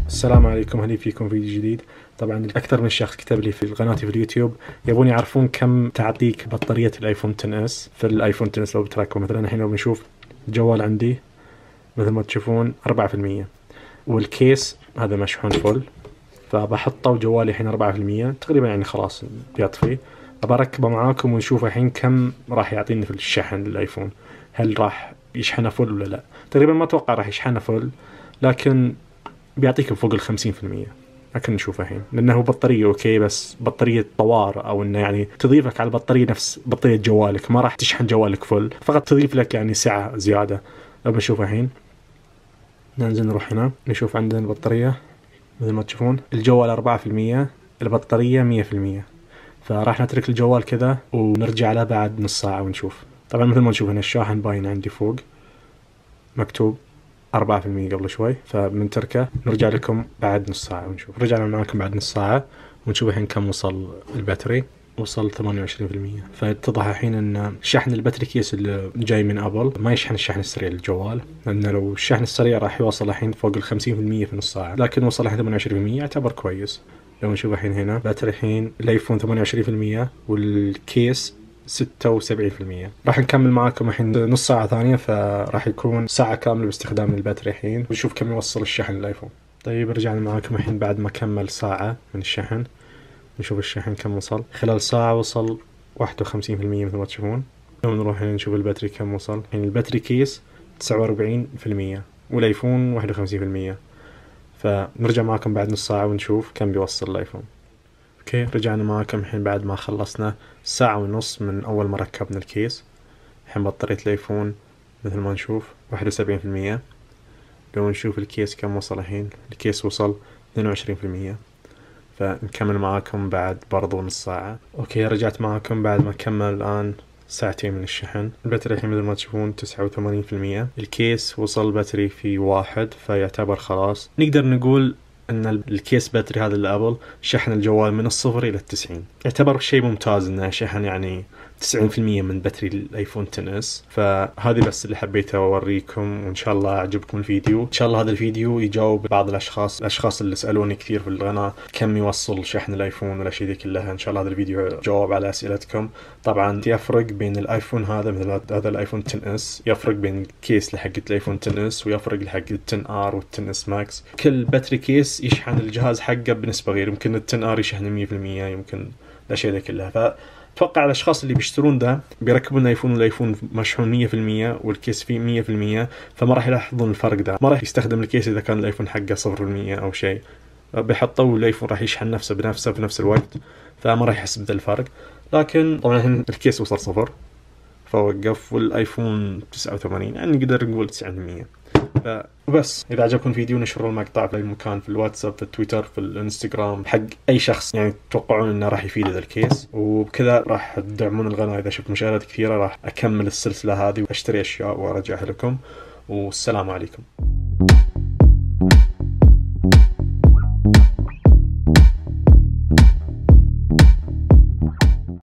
السلام عليكم، هلا فيكم فيديو جديد. طبعا أكثر من شخص كتب لي في قناتي في اليوتيوب يبون يعرفون كم تعطيك بطارية الآيفون 10s في الآيفون 10s. لو بتركبه مثلا الحين لو بنشوف الجوال عندي مثل ما تشوفون 4%، والكيس هذا مشحون فل، فبحطه وجوالي الحين 4% تقريبا، يعني خلاص بيطفي. بركبه معاكم ونشوف الحين كم راح يعطيني في الشحن الآيفون. هل راح يشحنه فل ولا لا؟ تقريبا ما أتوقع راح يشحنه فل، لكن بيعطيك فوق ال50%. لكن نشوف الحين، لأنه بطارية أوكي، بس بطارية طوار، أو إنه يعني تضيفك على البطارية نفس بطارية جوالك، ما راح تشحن جوالك فل، فقط تضيف لك يعني سعة زيادة. لو بنشوف الحين ننزل نروح هنا نشوف عندنا البطارية مثل ما تشوفون الجوال 4%، البطارية 100%. فراح نترك الجوال كذا ونرجع له بعد نص ساعة ونشوف. طبعا مثل ما نشوف هنا الشاحن باين عندي فوق مكتوب 4% قبل شوي، فبنتركه نرجع لكم بعد نص ساعة ونشوف. رجعنا معاكم بعد نص ساعة ونشوف الحين كم وصل الباتري. وصل 28%. فاتضح الحين ان شحن الباتري كيس اللي جاي من ابل ما يشحن الشحن السريع للجوال، لانه لو الشحن السريع راح يوصل الحين فوق 50% في نص ساعة، لكن وصل الحين 28%، يعتبر كويس. لو نشوف الحين هنا باتري الحين الايفون 28% والكيس 76%. راح نكمل معاكم الحين نص ساعة ثانية، فراح يكون ساعة كاملة باستخدام الباتري الحين، ونشوف كم يوصل الشحن للايفون. طيب رجعنا معاكم الحين بعد ما كمل ساعة من الشحن، نشوف الشحن كم وصل. خلال ساعة وصل 51% مثل ما تشوفون. لو نروح هنا نشوف الباتري كم وصل. يعني الباتري كيس 49% والايفون 51%. فنرجع معاكم بعد نص ساعة ونشوف كم بيوصل الايفون. اوكي، رجعنا معاكم الحين بعد ما خلصنا ساعة ونص من اول ما ركبنا الكيس. الحين بطارية الايفون مثل ما نشوف 71%. لو نشوف الكيس كم وصل الحين، الكيس وصل 22%. فنكمل معاكم بعد برضو نص ساعة. اوكي، رجعت معاكم بعد ما كمل الآن ساعتين من الشحن. الباتري الحين مثل ما تشوفون 89%. الكيس وصل باتري في 1، فيعتبر خلاص نقدر نقول ان الكيس باتري هذا الابل شحن الجوال من 0 إلى 90. يعتبر شيء ممتاز انه شحن يعني 90% من باتري الايفون 10s. فهذه بس اللي حبيت اوريكم، وان شاء الله اعجبكم الفيديو. ان شاء الله هذا الفيديو يجاوب بعض الاشخاص اللي سالوني كثير في القناه كم يوصل شحن الايفون والاشياء ذي كلها. ان شاء الله هذا الفيديو جاوب على اسئلتكم. طبعا يفرق بين الايفون هذا، مثل هذا الايفون 10s، يفرق بين الكيس لحق الايفون 10s، ويفرق لحق ال 10R وال 10s ماكس. كل باتري كيس يشحن الجهاز حقه بنسبه غير، يمكن ال 10R يشحن 100%، يمكن الاشياء ذي كلها. اتوقع الاشخاص اللي بيشترون ده بيركبون الايفون والايفون مشحون 100% والكيس فيه 100%، فما راح يلاحظون الفرق ده. ما راح يستخدم الكيس اذا كان الايفون حقه 0% او شيء، بيحطوا والايفون راح يشحن نفسه بنفسه في نفس الوقت، فما راح يحس بذا الفرق. لكن طبعا الكيس وصل 0 فوقف، والايفون 89، يعني نقدر نقول 90%. فبس اذا عجبكم الفيديو نشروا المقطع في اي مكان، في الواتساب، في التويتر، في الانستغرام، حق اي شخص يعني تتوقعون انه راح يفيد هذا الكيس. وبكذا راح تدعمون القناه. اذا شفت مشاهدات كثيره راح اكمل السلسله هذه واشتري اشياء وارجعها لكم. والسلام عليكم.